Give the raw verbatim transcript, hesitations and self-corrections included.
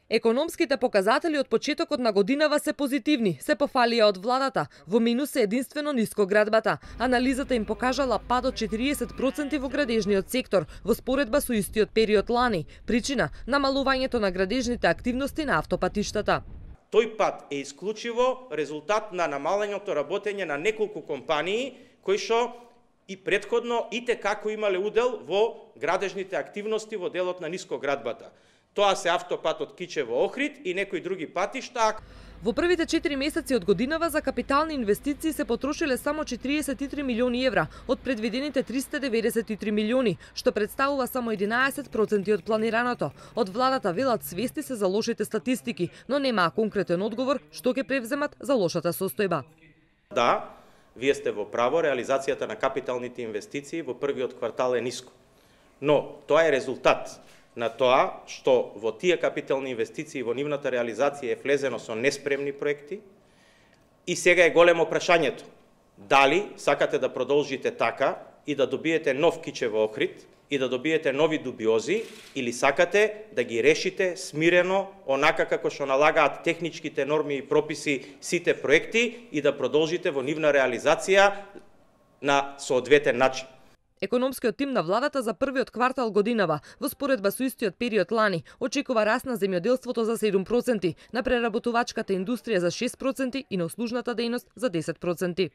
Економските показатели од почетокот на годинава се позитивни, се пофалија од владата. Во минус е единствено нискоградбата. Анализата им покажала пад од четириесет проценти во градежниот сектор, во споредба со истиот период лани. Причина – намалувањето на градежните активности на автопатиштата. Тој пат е исклучиво резултат на намалењето работење на неколку компании кои што и претходно и те како имале удел во градежните активности во делот на нискоградбата. Тоа се автопатот Кичево-Охрид и некои други патишта. Во првите четири месеци од годинава за капитални инвестиции се потрошиле само четириесет и три милиони евра од предвидените триста деветдесет и три милиони, што представува само единаесет проценти од планираното. Од владата велат свести се за лошите статистики, но немаа конкретен одговор што ќе превземат за лошата состојба. Да, вие сте во право, реализацијата на капиталните инвестиции во првиот квартал е ниско. Но тоа е резултат на тоа што во тие капитални инвестиции во нивната реализација е влезено со неспремни проекти и сега е големо прашањето дали сакате да продолжите така и да добиете нов Кичево-Охрид и да добиете нови дубиози или сакате да ги решите смирено онака како што налагаат техничките норми и прописи сите проекти и да продолжите во нивна реализација на соодветен начин. Економскиот тим на владата за првиот квартал годинава, во споредба со истиот период лани, очекува раст на земјоделството за седум проценти, на преработувачката индустрија за шест проценти и на услужната дејност за десет проценти.